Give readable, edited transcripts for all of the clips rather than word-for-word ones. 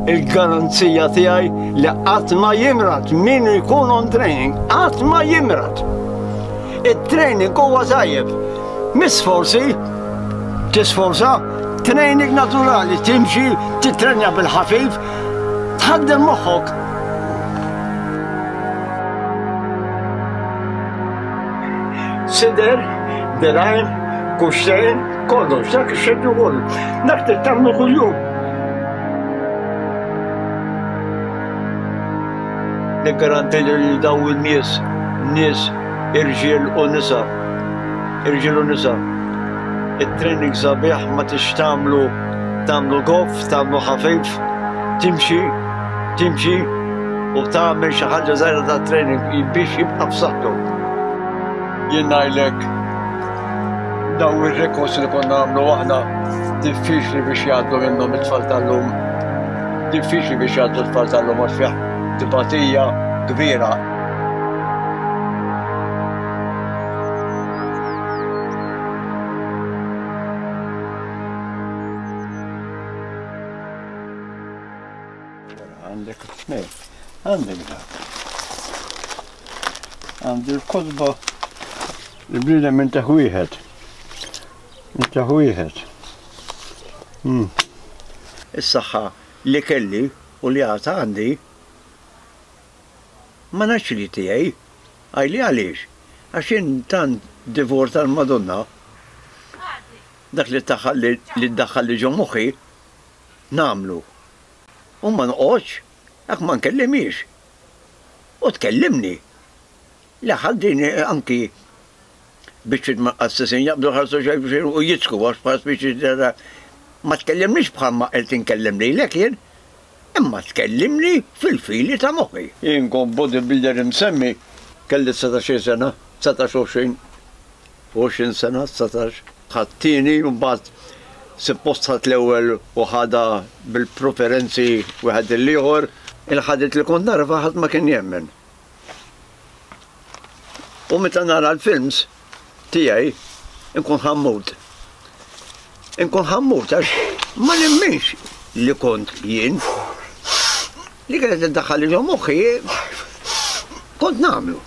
Il-garanzija tiegħi li qatt ma jimrad min ikun on training, qatt ma jimrad. It-training huwa tajjeb. Miss forsi tisforza training naturali, timxi, titrenja bil-ħafif, tħaddem moħħok. Sider, dirajn, kuxtejn, kollox, dak ix-xedju kollu. Dak trid tagħmlu kuljum. Niggaranti li daw in-nies, nies irġiel u nisa, irġiel u nisa. It-training sabiħ ma tix tagħmlu tagħmlu goff, tagħmlu ħafif, timxi, timxi u tagħmel xi ħaġa żgħira ta' training biex jibqa' f'saħħtu. Jien ngħidlek daw ir-rekords li konna nagħmlu aħna diffiċli biex jgħaddu minnhom it-tfal tal-lum. Diffiċli biex jgħaddu t-tfal tal-lum għax fih tbatija kbira. Għandek nej, għandek dak. Għandi l-kotba il-bniedem minn taħ wieħed. Minn taħ wieħed. Hmm. Is-saħħa li kelli u li għad għandi ma ngħidx li tiegħi. Għidli għaliex? Għax jien tant divor tal-Madonna dak li li ddaħħalli ġo moħħi nagħmlu. U ma noqgħodx jekk ma nkellimhiex. U tkellimni. Li ħaddini anki biċċiet mal-qassisin jaqbdu jħarsu xejn b'xejn u jidħku għax bħal speċi ma tkellimnix bħalma qed inkellem lilek jien. Imma tkellimni fil-fili ta' moħħi. Jien kont bodybuilder imsemmi, kelli 19-il sena, 19 20, 20 sena, 19. Ħadt tieni u mbagħad suppost ħadt l-ewwel u ħadha bil-preferenzi wieħed lill-ieħor. Il-ħadid li kont narfa ħadd ma kien jemmen. U meta nara l-films tiegħi nkun ħammut. Inkun ħammut għax ma nemminx li kont jien. Li kienet iddaħħal ġo moħħi kont nagħmlu.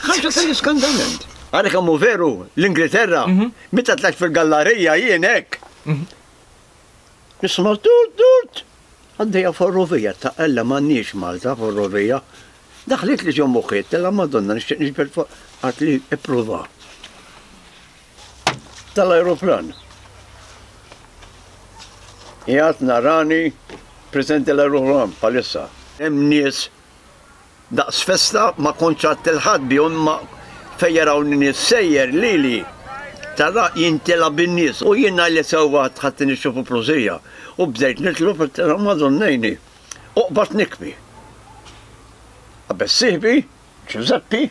Ħaġa tal-iskandament. Għara kemm hu veru l-Ingilterra, mhm. meta tlajt fil-gallarija jien hekk. Mhm. Nisma' tut tut. Għaddejja ferrovija ta' Ella m'għandniex Malta ferrovija. Daħlit li ġo moħħi, tella Madonna nixtieq niġbed fuq għat li ippruva. Tal-ajruplan. Qiegħed narani preżenti l-ajruplan bħalissa. Hemm nies daqs festa ma kontx għadt il-ħadd bihom imma fejn jarawni nies sejjer lili tara jintela' bin-nies u jien ngħidlek sewwa ħadt inixxu fuq prosija u bdejt nitlob għedtilha Madonna għinni u qbadt nikbi. Qabeż sieħbi, Ġużeppi,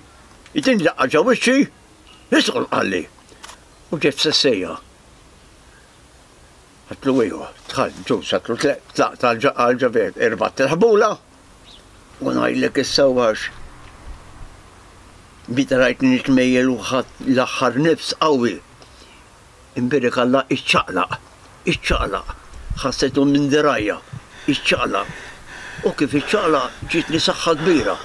jtini daqqa ġo wiċċi, Idħol qalli. U ġiet f'sessejja. Għedtlu ejwa, dħalt ġus, għedtlu tlaqt għal ġaver, irbatt il-ħbula u ngħidlek issa għax meta rajtni nitmejjel u ħadt l-aħħar nifs qawwi. Imbierek Alla iċċaqlaq, iċċaqlaq, ħassejtu minn dirgħajja, iċċaqlaq. U kif iċċaqlaq ġietni saħħa kbira.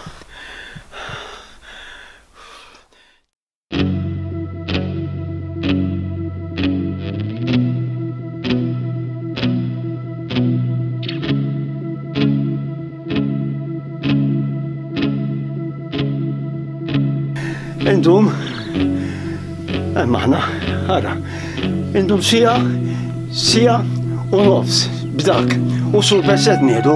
Indum, hemm aħna, ara, indum sija, sija u nofs b'dak u super set nieħdu.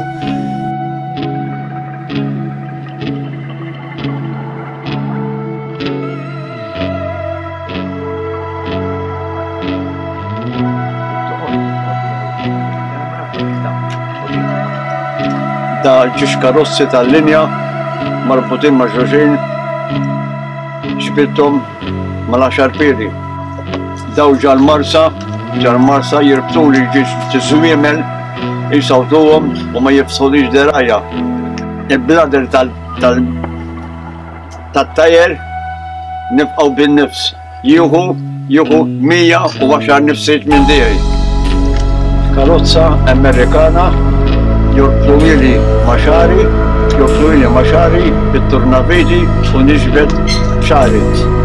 Da ġiex karozzi tal-linja marbutin ma' xulxin ġbidthom mal-għaxar piedi. Daw ġal-marsa, ġal-marsa jirbtuli ġiex tiżwiemel jisawtuhom u ma jifsħulix derajja. Il-blader tat-tajer nibqgħu bin-nifs. Jieħu jieħu 110 nifsiet minn tiegħi. Karozza Amerikana. Jorbtuhieli ma' xagħri, jorbtuhieli ma' xagħri bit-turnaviti u niġbed xagħri.